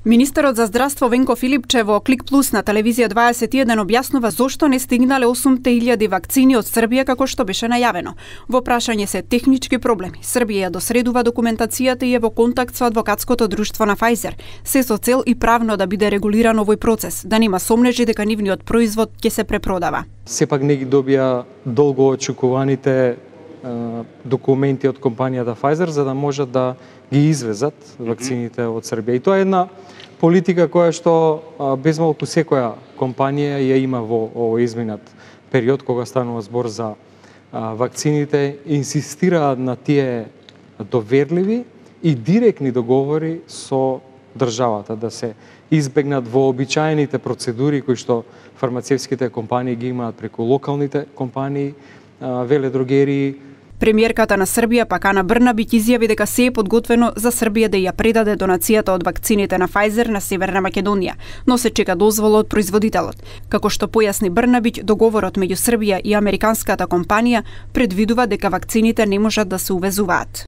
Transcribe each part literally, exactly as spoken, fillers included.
Министерот за здравство Венко Филипче во Клик Плюс на телевизија дваесет и еден објаснува зошто не стигнале осум илјади вакцини од Србија како што беше најавено. Во прашање се технички проблеми. Србија ја досредува документацијата и е во контакт со адвокатското друштво на Pfizer, се со цел и правно да биде регулиран овој процес, да нема сомнежи дека нивниот производ ќе се препродава. Сепак не ги добија долго очекуваните документи од компанијата Pfizer за да можат да ги извезат вакцините од Србија. И тоа е една политика која што безмалку секоја компанија ја има во овој изминат период кога станува збор за вакцините, инсистираат на тие доверливи и директни договори со државата, да се избегнат вообичаените процедури кои што фармацевските компании ги имаат преку локалните компании, веледрогерии. Премиерката на Србија пак Ана Брнабиќ изјави дека се е подготвено за Србија да ја предаде донацијата од вакцините на Pfizer на Северна Македонија, но се чека дозвола од производителот. Како што појасни Брнабиќ, договорот меѓу Србија и американската компанија предвидува дека вакцините не можат да се увезуваат.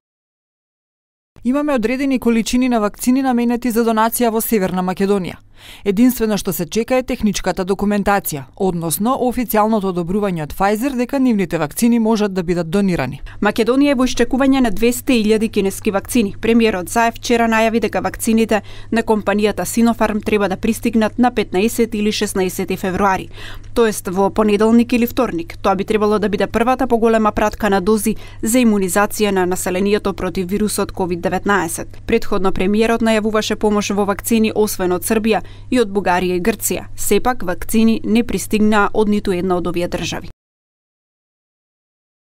Имаме одредени количини на вакцини наменети за донација во Северна Македонија. Единствено што се чека е техничката документација, односно официјалното одобрување од Pfizer дека нивните вакцини можат да бидат донирани. Македонија е во исчекување на двесте илјади кинески вакцини. Премиерот Заев вчера најави дека вакцините на компанијата Sinopharm треба да пристигнат на петнаесети или шеснаесети февруари, тоест во понеделник или вторник. Тоа би требало да биде првата поголема пратка на дози за имунизација на населението против вирусот ковид деветнаесет. Претходно премиерот најавуваше помош во вакцини освен од Србија и од Бугарија и Грција. Сепак, вакцини не пристигнаа од ниту една од овие држави.